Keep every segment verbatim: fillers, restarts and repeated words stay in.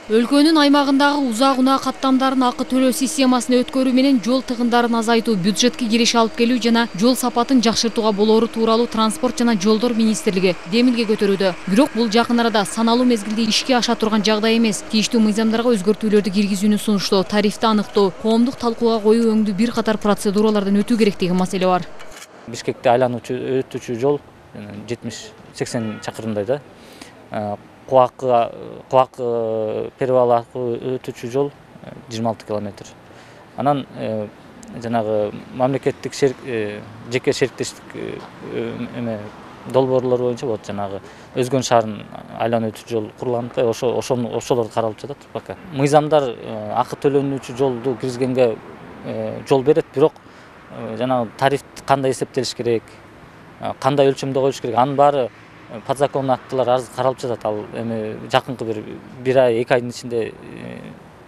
Өлкөнүн аймагындагы узак унаа каттамдарын акы төлөө системасын өткөрүү менен жол тыгындарын азайтуу, бюджетке кириш алып келүү жана жол сапатын жакшыртууга болоору тууралуу Транспорт жана жолдор министрлиги демилге көтөрүүдө. Бирок бул жакын арада саналуу мезгилде ишке аша турган жагдай эмес. Тийиштүү мыйзамдарга өзгөртүүлөрдү киргизүүнү сунуштоо, тарифти анықтоо, коомдук талкууга коюу өңдүү бир катар процедуралардан өтүү керек деген маселе бар. Бишкекте айлануучу өтүүчү жол жетимиш сексен чакырымдай да. Куак Куак перевал аркылуу өтүүчү жол жыйырма алты километр. Анан жанагы мамлекеттик жеке шериктештик эме долбоорлор боюнча вот жанагы Өзгөн шаарын айланып өтүүчү жол курулган да, ошо ошолор каралып жатат пока. Мыйзамдар акы төлөнүүчү жолду киргизгенге жол берет, бирок жанагы тариф кандай эсептелиш керек, кандай өлчөмдө коюш керек, анын баары подзаконный актылар азыр каралып жатат. Ал эми жакынкы бир бир ай, эки айдын ичинде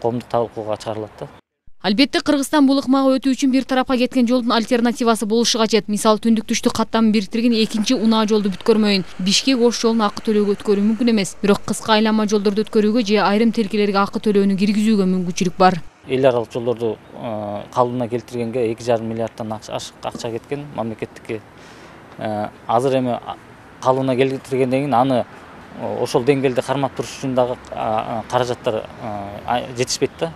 коомдук талкууга чыгарылат да. Албетте Кыргызстан бул ыкмага өтүү үчүн бир тарапка кеткен жолдун альтернативасы болушу кажет. Мисалы түндүк түштүк каттамын бириктирген экинчи унаа жолду бүткөрмөйүн. Бишкек Ош жолун акы төлөөгө өткөрүү мүмкүн эмес. Бирок кыска айланма жолдорду өткөрүүгө же айрым тилкелерге акы төлөөнү киргизүүгө мүмкүнчүлүк бар. Эл аралык жолдорду калыбына келтиргенге эки жарым миллиарддан ашык акча кеткен мамлекеттикке. Азыр эми калыбына келтиргенден кийин аны ошол деңгээлде кармап туруш үчүн дагы каражаттар жетишпейт да.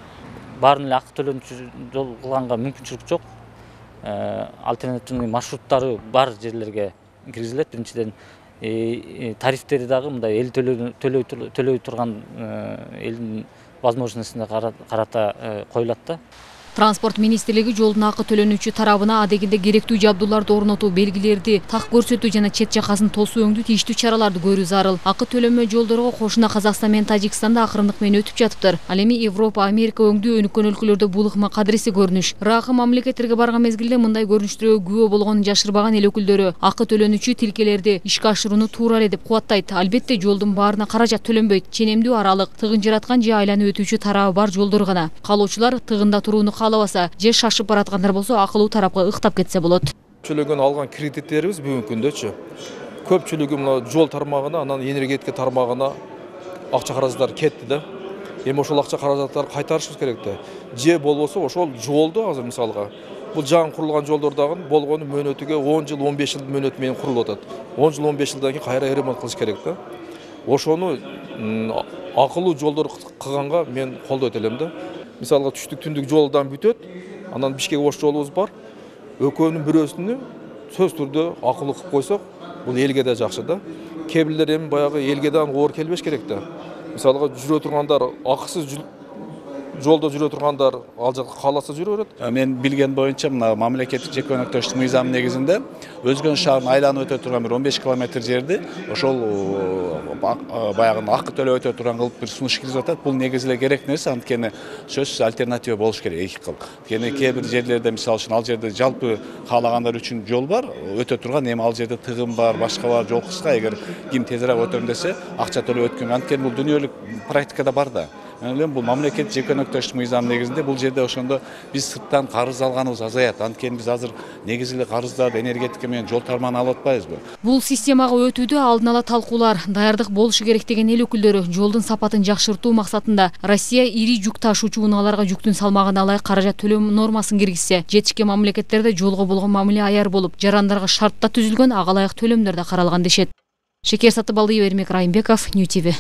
Баарын эле акы төлөнүүчү жол кылганга мүмкүнчүлүк жок. Альтернативный маршруттары бар жерлерге киргизилет. Биринчиден тарифтери дагы мындай эл төлөй турган элдин возможностуна карата коюлат да. Транспорт министрлиги жолдун акы төлөнүүчү тарабына адегенде керектүү жабдууларды орнотуу, белгилерди так көрсөтүү жана чет жакасын тосуу өңдүү тийиштүү чараларды көрүү зарыл. Акы төлөнмө жолдорго кошуна Казакстан менен Тажикстанда акырындык менен өтүп жатыптыр. Ал эми Европа, Америка өңдүү өнүккөн өлкөлөрдө бул ыкма кадыресе көрүнүш. Ракы мамлекеттерге барган мезгилде мындай көрүнүштөргө күбө болгонун жашырбаган эл өкүлдөрү акы төлөнүүчү тилкелерди ишке ашырууну туура эле деп кубаттайт. Албетте жолдун баарына каражат төлөнбөйт. Ченемдүү аралык, тыгын жараткан же айланып өтүүчү тарабы бар жолдор гана. Калоочулар тыгында турууну каалабаса же шашып бараткандар болсо акылуу тарапка ыктап кетсе болот. Көпчүлүгүн алган кредиттерибиз бүгүнкү күндөчү көпчүлүгү мына жол тармагына, анан энергетика тармагына акча каражаттар кетти да. Эми ошол акча каражаттарды кайтарышыбыз керек да. Же болбосо ошол жолду азыр мисалга бул жаңы курулган жолдор дагы болгону мөөнөтүгө он жыл, он беш жыл мөөнөт менен курулуп атат. он жыл, он беш жылдан кийин кайра ремонт кылыш керек да. Ошону акылуу жолдор кылганга мен колдойт элем да. Мисалга түштүк түндүк жолдан бүтөт, анан Бишкек Ош жолубуз бар. Экөөнүн бирөөсүнү сөз түрдө акылуу кылып койсок, бул элге да жакшы да. Кээ бирлер эми баягы элге да оор келбеш керек да. Мисалга жүрө тургандар акысыз жолдо жүрө тургандар ал жакка кааласа жүрө берет. Мен билген боюнча мына мамлекеттик жеке өнөктөштүк мыйзамы негизинде Өзгөн шаарын айланып өтө турган бир он беш километр жерди ошол баягы акы төлөп өтө турган кылып бир сунуш киргизип атат. Бул негизи эле керек нерсе, анткени сөзсүз альтернатива болуш керек эки кыл. Анткени кээ бир жерлерде мисалы үчүн ал жерде жалпы каалагандар үчүн жол бар, өтө турган, эми ал жерде тыгын бар, башка бар, жол кыска, эгер ким тезирээк өтөм десе акча төлөп өткөн. Анткени бул дүнүйөлүк практикада бар да. Бул мамлекет жеке өнөктөштүк мыйзамы негизинде бул жерде ошондо биз сырттан карыз алганыбыз азаят. Анткени биз азыр негизи эле карыздарды энергетика менен жол тармагына алып атпайбызбы? Бул системага өтүүдө алдын ала талкуулар, даярдык болушу керек деген эл өкүлдөрү жолдун сапатын жакшыртуу максатында Россия ири жүк ташуучу унааларга жүктүн салмагына ылайык каражат төлөө нормасын киргизсе, жетишкен мамлекеттерде жолго болгон мамиле аяр болуп, жарандарга шартта түзүлгөн ага ылайык төлөмдөр да каралган дешет. Шекер Сатыбалдиева, Эрмек Райымбеков, Нью ти ви.